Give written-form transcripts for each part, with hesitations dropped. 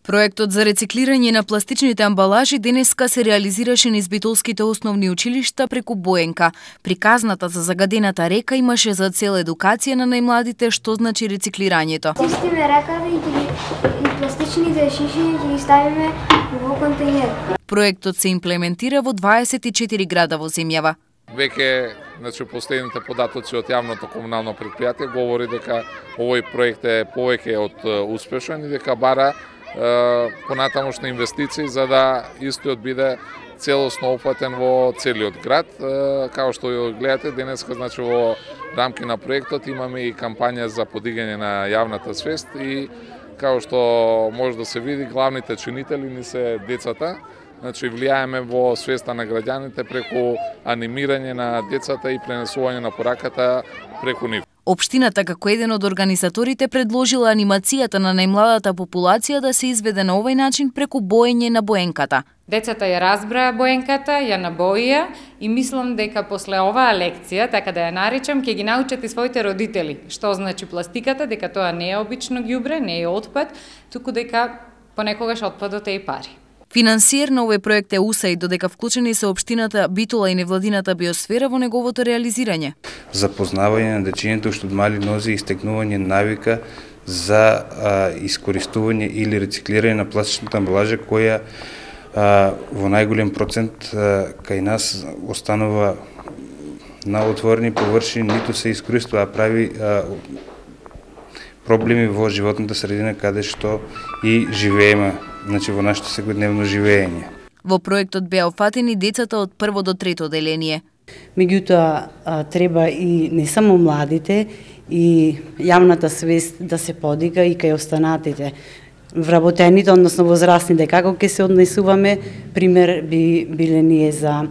Проектот за рециклирање на пластичните амбалажи денеска се реализираше низ битолските основни училишта преку Боенка. Приказната за загадената река имаше за цел едукација на најмладите што значи рециклирањето. Чистиме реката и пластичните шиши ги ставиме во контейнер. Проектот се имплементира во 24 града во земјава. Веќе, последните податоци од јавното комунално предпријатие говори дека овој проект е повеќе од успешен и дека бара понатамошни инвестиции за да истиот биде целосно опфатен во целиот град. Као што гледате денеска, во рамки на проектот имаме и кампања за подигање на јавната свест и као што може да се види, главните чинители ни се децата. Влијаеме во свеста на граѓаните преку анимирање на децата и пренесување на пораката преку нив. Општината како еден од организаторите предложила анимацијата на најмладата популација да се изведе на овој начин преку боење на боенката. Децата ја разбраа боенката, ја набоија и мислам дека после оваа лекција, така да ја наречам, ќе ги научат и своите родители што значи пластиката, дека тоа не е обично ѓубре, не е отпад, туку дека понекогаш отпадот е и пари. Финансиер на овој проект е УСАИД, додека вклучени се општината Битола и невладината биосфера во неговото реализирање. Запознавање на дечињата уште од мали нозе и стекнување навика за искористување или рециклирање на пластичната амбалажа која во најголем процент кај нас останува на отворени површини, ниту се искористува, прави проблеми во животната средина каде што и живееме, во нашето секојдневно живење. Во проектот беа опфатени децата од 1 до 3 оделение. Меѓутоа треба и не само младите и јавната свест да се подига и кај останатите. Вработените, односно возрастните, како ќе се однесуваме, пример би биле ние за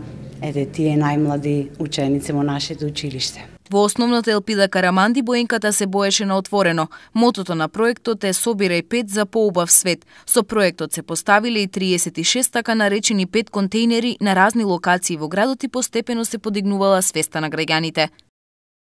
тие најмлади ученици во нашето училиште. Во основната Елпида Караманди боенката се боеше на отворено. Мотото на проектот е "Собирај 5 за поубав свет". Со проектот се поставиле и 36 така наречени 5 контейнери на разни локации во градот и постепено се подигнувала свеста на граѓаните.